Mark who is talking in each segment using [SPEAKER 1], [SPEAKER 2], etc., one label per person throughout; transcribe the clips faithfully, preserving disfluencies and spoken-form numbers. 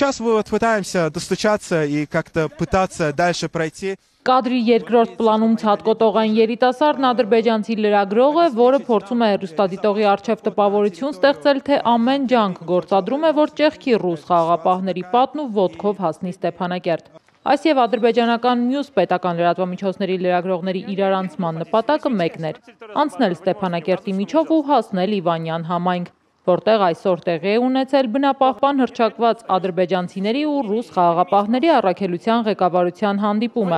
[SPEAKER 1] сейчас мы вот пытаемся достучаться и как-то пытаться дальше пройти.
[SPEAKER 2] Կադրի երկրորդ պլանում ցատկոտողային երիտասարդն ադրբեջանցի լրագրող է, որը փորձում է հեռուստադիտողի առջև տպավորություն ստեղծել, թե ամեն ջանք գործադրում է, որ ճեղքի ռուս խաղաղապահների պատն ու ոտքով հասնի Ստեփանակերտ։ Այս եւ ադրբեջանական մյուս պետական լրատվամիջոցների լրագրողների իրարանցման նպատակը մեկն էր՝ անցնել Ստեփանակերտի միջով ու հասնել Իվանյան համայնք, որտեղ այսօր տեղի է ունեցել բնապահպան հռչակված ադրբեջանցիների ու ռուս խաղաղապահների առաքելության ղեկավարության հանդիպումը։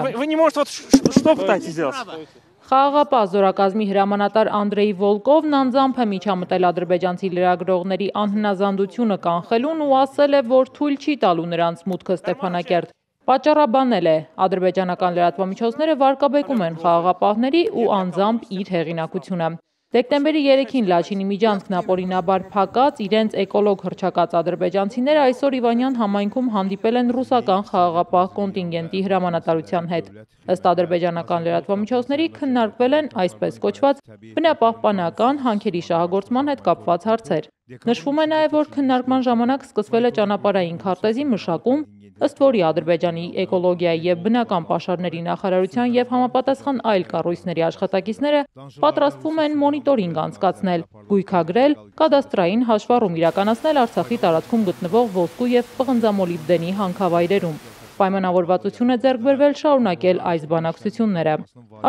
[SPEAKER 2] Խաղաղապահ զորակազմի հրամանատար Անդրեյ Վոլկովն անձամբ է միջամտել ադրբեջանցի լրագրողների անհնազանդությունը կանխելուն ու ասել է, որ թույլ չի տալու նրանց մուտքը Ստեփանակերտ։ Պատճառաբանել է, ադրբեջանական լրատվամիջոցները վարկաբեկում են խաղաղապահների ու անձամբ իր հեղինակությունը։ Դեկտեմբերի երեքին Լաչինի միջանցքն ապօրինաբար փակած, իրենց էկոլոգ հռչակած ադրբեջանցիները այսօր Իվանյան համայնքում հանդիպել են ռուսական խաղաղապահ կոնտինգենտի հրամանատարության հետ։ Ըստ ադրբեջանական լրատվամիջոցների քննարկվել են այսպես կոչված բնապահպանական հանքերի շահագործման հետ կապված հարցեր։ Նշվում է նաև, որ քննարկման ժամանակ սկսվել է ճանապարհային քարտեզի մշակում, ըստ որի Ադրբեջանի էկոլոգիայի եւ բնական պաշարների նախարարության եւ համապատասխան այլ կառույցների աշխատակիցները պատրաստվում են մոնիտորինգ անցկացնել, գույքագրել, կադաստրային հաշվառում իրականացնել Արցախի տարածքում գտնվող ոսկու եւ պղնձամոլիբդենի հանքավայրերում։ Պայմանավորվածություն է ձեռք բերվել շարունակել այս բանակցությունները։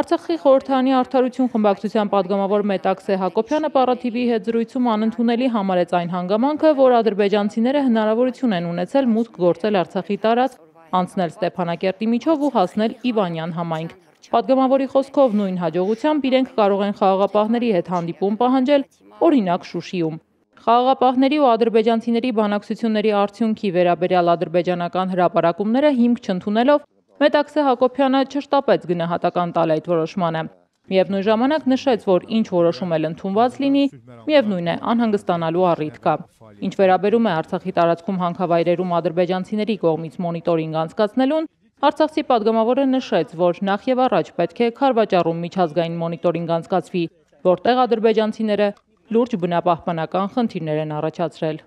[SPEAKER 2] Արցախի խորհրդարանի Արդարություն խմբակցության պատգամավոր Մետաքսե Հակոբյանը Պարաթիվի հետ զրույցում անընդունելի համարեց այն հանգամանքը, որ ադրբեջանցիները հնարավորություն են ունեցել մուտք գործել Արցախի տարածք, անցնել Ստեփանակերտի միջով ու հասնել Իվանյան համայնք։ Պատգամավորի խոսքով նույն հաջողությամբ իրենք կարող են խաղաղապահների հետ հանդիպում պահանջել, օրինակ Շուշիում։ Խաղաղապահների ու ադրբեջանցիների բանակցությունների արդյունքի վերաբերյալ ադրբեջանական հրապարակումները հիմք չընդունելով Մետաքսե Հակոբյանը չշտապեց գնահատական տալ այդ որոշմանը։ Միևնույն ժամանակ նշեց, որ ինչ որոշում էլ ընդունված լինի, միևնույն է անհանգստանալու առիթ կա։ Ինչ վերաբերում է Արցախի տարածքում հանքավայրերում ադրբեջանցիների կողմից մոնիտորինգ անցկացնելուն, Արցախցի պատգամավորը նշեց, որ նախ եւ առաջ պետք է Քարվաճառում միջազգային մոնիտորինգ անցկացվի, որտեղ ադրբեջանցիները լուրջ բնապահպանական խնդիրներ են առաջացրել։